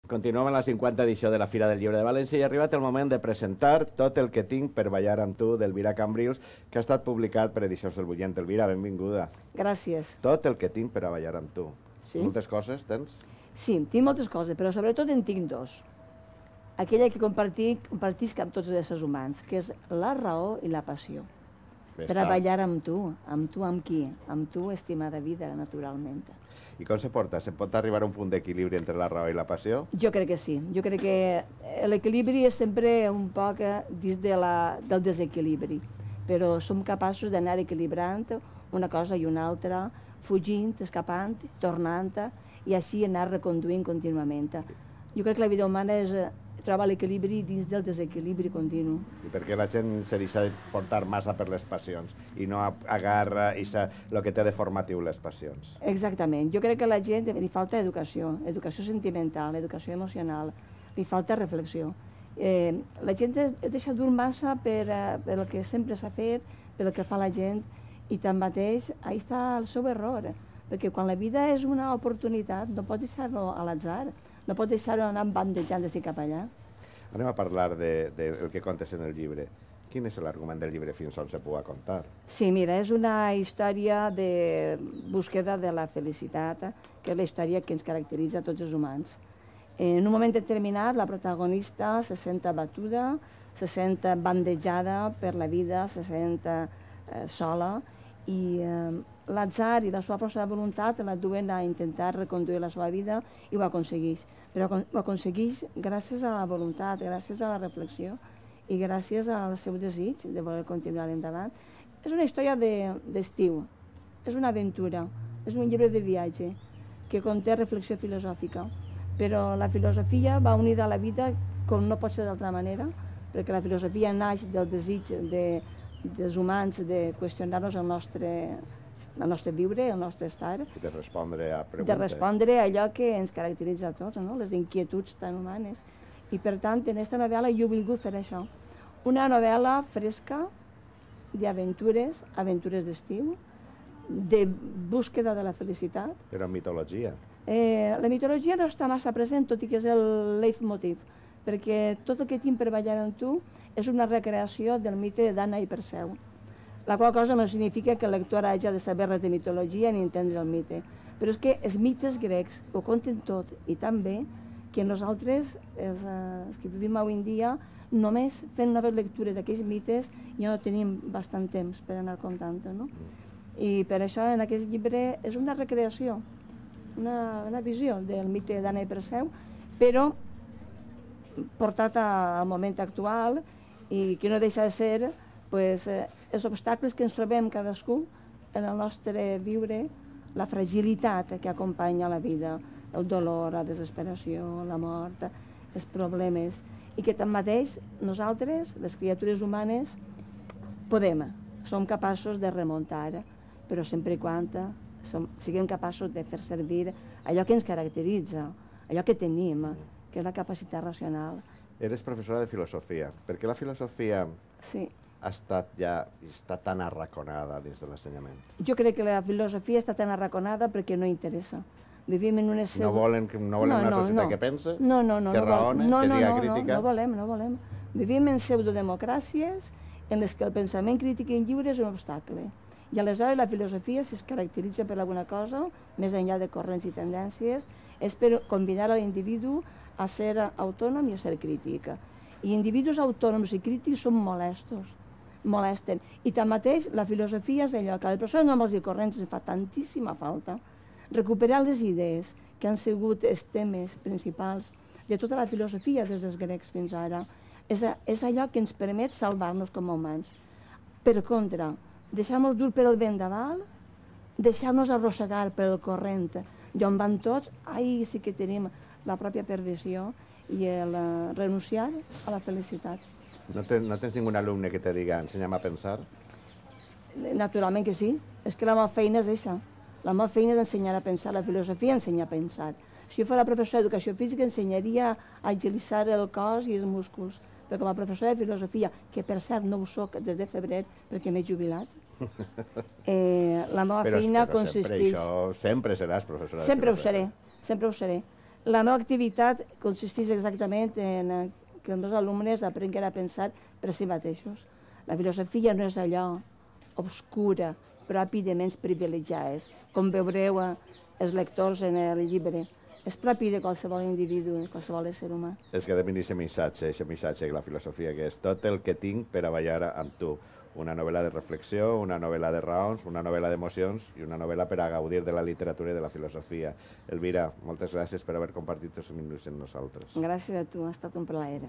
Continuem en la 50 edició de la Fira del Llibre de València i ha arribat el moment de presentar Tot el que tinc per ballar amb tu, d'Elvira Cambrils, que ha estat publicat per Edicions del Bullent. Elvira, benvinguda. Gràcies. Tot el que tinc per a ballar amb tu. Sí. Moltes coses tens? Sí, tinc moltes coses, però sobretot en tinc dos. Aquella que compartisc amb tots els éssers humans, que és la raó i la passió. Per a ballar amb tu amb qui? Amb tu, estimada vida, naturalment. I com se porta? Se pot arribar a un punt d'equilibri entre la raó i la passió? Jo crec que sí. Jo crec que l'equilibri és sempre un poc dins del desequilibri, però som capaços d'anar equilibrant una cosa i una altra, fugint, escapant, tornant, i així anar reconduint contínuament. Jo crec que la vida humana troba l'equilibri dins del desequilibri continu. I per què la gent se deixa portar massa per les passions i no agarra el que té de formatiu les passions? Exactament. Jo crec que a la gent li falta educació, educació sentimental, educació emocional, li falta reflexió. La gent es deixa dur massa per el que sempre s'ha fet, per el que fa la gent, i tanmateix, ahí està el seu error, perquè quan la vida és una oportunitat no pots deixar-lo a l'atzar, no pots deixar-ho anar bandejant d'ací cap allà. Anem a parlar del que contes en el llibre. Quin és l'argument del llibre fins on se pugui contar? Sí, mira, és una història de búsqueda de la felicitat, que és la història que ens caracteritza a tots els humans. En un moment determinat, la protagonista se sent abatuda, se sent bandejada per la vida, se sent sola, i l'atzar i la seva força de voluntat la duen a intentar reconduir la seva vida i ho aconsegueix. Però ho aconsegueix gràcies a la voluntat, gràcies a la reflexió i gràcies al seu desig de voler continuar endavant. És una història d'estiu, és una aventura, és un llibre de viatge que conté reflexió filosòfica, però la filosofia va unida a la vida com no pot ser d'altra manera, perquè la filosofia naix del desig dels humans de qüestionar-nos el nostre viure, el nostre estar. I de respondre a preguntes. De respondre a allò que ens caracteritza a tots, les inquietuds tan humanes. I per tant, en aquesta novel·la jo he volgut fer això. Una novel·la fresca d'aventures, aventures d'estiu, de búsqueda de la felicitat. Però mitologia. La mitologia no està massa present, tot i que és el leitmotiv, perquè tot el que tinc per ballar amb tu és una recreació del mite d'Anna i Perseu, la qual cosa no significa que el lector hagi de saber res de mitologia ni entendre el mite, però és que els mites grecs ho conten tot i tan bé que nosaltres, els que vivim avui en dia, només fent noves lectures d'aquells mites ja no tenim bastant temps per anar contant-ho, no? I per això en aquest llibre és una recreació, una visió del mite d'Anna i Perseu, però portat al moment actual i que no deixa de ser els obstacles que ens trobem cadascú en el nostre viure, la fragilitat que acompanya la vida, el dolor, la desesperació, la mort, els problemes, i que tanmateix nosaltres, les criatures humanes, som capaços de remuntar, però sempre i quan siguem capaços de fer servir allò que ens caracteritza, allò que tenim, que és la capacitat racional. Eres professora de filosofia. Per què la filosofia ha estat està tan arraconada dins de l'ensenyament? Jo crec que la filosofia està tan arraconada perquè no interessa. Vivim en una... No volen una societat que pense, que raone, que siga crítica? No volem. Vivim en pseudodemocràcies en les que el pensament crític i lliure és un obstacle. I aleshores la filosofia, si es caracteritza per alguna cosa, més enllà de corrents i tendències, és per convidar a l'individu a ser autònom i a ser crític. I individus autònoms i crítics són molesten. I tanmateix la filosofia és allò que a les persones normals i corrents ens fa tantíssima falta. Recuperar les idees que han sigut els temes principals de tota la filosofia des dels grecs fins ara és allò que ens permet salvar-nos com a humans. Per contra, deixar-nos dur per el vent d'aval, deixar-nos arrossegar per el corrent d'on van tots, ahí sí que tenim la pròpia perdició i el renunciar a la felicitat. No tens ningun alumne que te diga ensenya'm a pensar? Naturalment que sí. És que la meva feina és això. La meva feina és ensenyar a pensar. La filosofia ensenya a pensar. Si jo fos professora d'educació física ensenyaria a agilitzar el cos i els músculs. Però com a professora de filosofia, que per cert no ho soc des de febrer perquè m'he jubilat, la meva feina consisteix... Però sempre seràs professora de filosofia. Sempre ho seré. Sempre ho seré. La meva activitat consisteix exactament en que els meus alumnes aprenguin a pensar per si mateixos. La filosofia no és allò obscura, propi de ments privilegiades, com veureu els lectors en el llibre. És propi de qualsevol individu, de qualsevol ésser humà. Es quedem en aquest missatge, la filosofia, que és tot el que tinc per a ballar amb tu. Una novel·la de reflexió, una novel·la de raons, una novel·la d'emocions i una novel·la per a gaudir de la literatura i de la filosofia. Elvira, moltes gràcies per haver compartit els minuts amb nosaltres. Gràcies a tu, ha estat un plaer.